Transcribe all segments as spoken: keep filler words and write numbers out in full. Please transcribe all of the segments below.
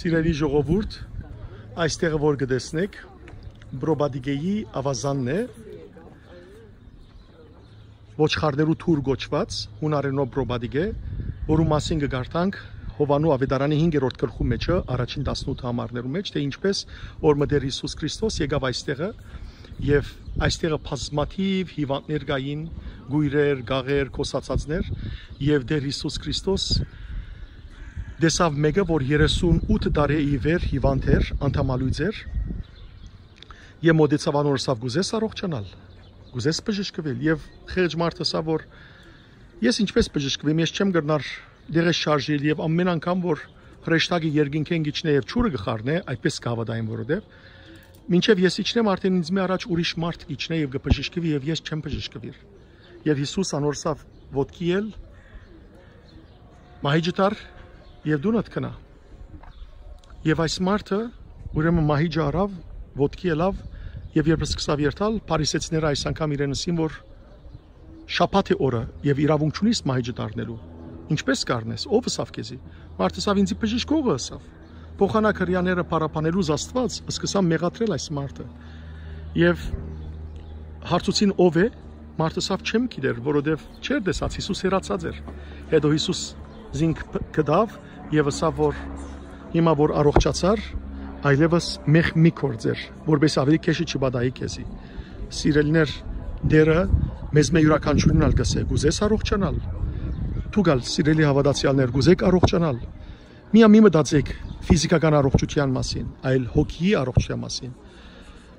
Սիրելի ժողովուրդ, այստեղը որ կը տեսնէք, Պրոպատիկեի աւազանն է, ոչխարներու թուր կոչուած, յունարէնով Պրոպատիկե, որու մասին կը կարդանք Յովհաննու Աւետարանի հինգերորդ գլխու մէջը, առաջին տասնութ համարներու մէջ, թէ ինչպէս որ մը Տէր Յիսուս Քրիստոս եկաւ այստեղը եւ այստեղը բազմաթիւ հիւանդներ կային, կոյրեր, գաղեր, կոսացածներ, եւ Տէր Յիսուս Քրիստոս տեսաւ մէկը, որ երեսուն ութ տարի ի վեր հիւանդ էր, անդամալոյծ էր, եւ մօտեցաւ անոր, ըսաւ. «Կ'ուզես առողջանալ, կ'ուզես բժշկուիլ»։ Եւ խեղճ մարդը ըսաւ, որ «Ես ինչպէս բժշկուիմ, ես չեմ կրնար դեղս շարժիլ, եւ ամէն անգամ որ հրեշտակը երկնքէն կ'իջնէ եւ ջուրը կը խառնէ, այդպէս կը հաւատայեմ, որովհետեւ մինչեւ ես իջնեմ, արդէն ինձ մի առաջ ուրիշ մարդ կ'իջնէ եւ կը բժշկուի, եւ ես չեմ բժշկուիր»։ Եւ Յիսուս անոր ըսաւ. «Ոտքի ել, մահիճդ առ եւ դունդ գնա»։ Եւ այս մարդը ուրեմն մահիճը առաւ, ոտքի ելաւ, եւ երբ սկսաւ երթալ, փարիսեցիները այս անգամ իրեն ըսին, որ շաբաթ է օրը եւ իրաւունք չունիս մահիճդ առնելու։ «Ինչպէս կ'առնես, ով ըսաւ քեզի»։ Մարդը ըսաւ. «Ինձի բժշկողը ըսաւ»։ Փոխանակ Հրեաները փառաբանելուց Աստուած սկսան մեղադրել այս մարդը։ Եւ հարցուցին. «Ո՞վ է»։ Մարդը ըսաւ. «Չեմ գիտեր, որովհետեւ չէր տեսած, Յիսուս հեռացած էր»։ Հետո Յիսուս զինք բ-, գտաւ եւ ըսաւ, որ հիմա որ առողջացար, այլեւս մեղք մի գործեր, որպէս ավելի քեշը չպատահի քեզի։ Սիրելիներ, Տէրը մեզմէ իւրաքանչիւրին ալ կ'ըսէ. «Կ'ուզես առողջանալ»։ Դուք ալ, սիրելի հաւատացեալներ, կ'ուզեք առողջանալ։ Միա մի մտածեք ֆիզիքական առողջութեան մասին, այլ հոգիի առողջութեան մասին։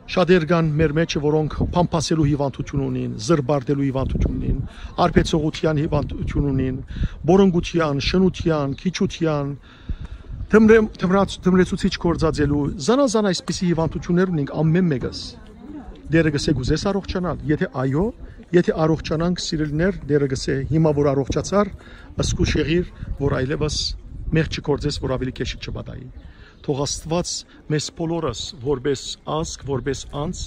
Շատեր կան մեր մէջը, որոնք փամփասելու հիւանդութիւն ունին, զրպարտելու հիւանդութիւն ունին, արբեցողութեան հիւանդութիւն ունին, բորոնկութեան, շնութեան, քիչութեան, թմրե-, թմրած-, թմրեցուցիչ գործածելու, զանազան այսպիսի հիւանդութիւններ ունենք ամէն մէկս։ Տէրը կ'ըսէ. «Կ'ուզես առողջանալ»։ Եթէ այո, եթէ առողջանանք, սիրելիներ, Տէրը կ'ըսէ. «Հիմա որ առողջացար, զգուշ եղիր, որ այլեւս մեղք չգործես, որ ավելի քեշը չպատահի»։ Թող Աստուած մեզ բոլորս, որպէս ազգ, որպէս անձ,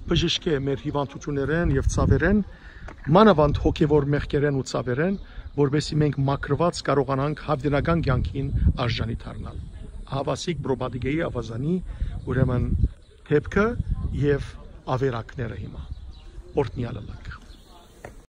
բժշկէ մեր հիւանդութիւններէն եւ ցաւերէն, մանաւանդ հոգեւոր մեղքերէն ու ցաւերէն, որպէսզի մենք մաքրուած կարողանանք յաւիտենական կեանքին արժանի դառնալ։ Ահաւասիկ Պրոպատիկեի աւազանի, ուրեմն, դէպքը եւ ավերակները հիմա օրհնեալ ըլլանք։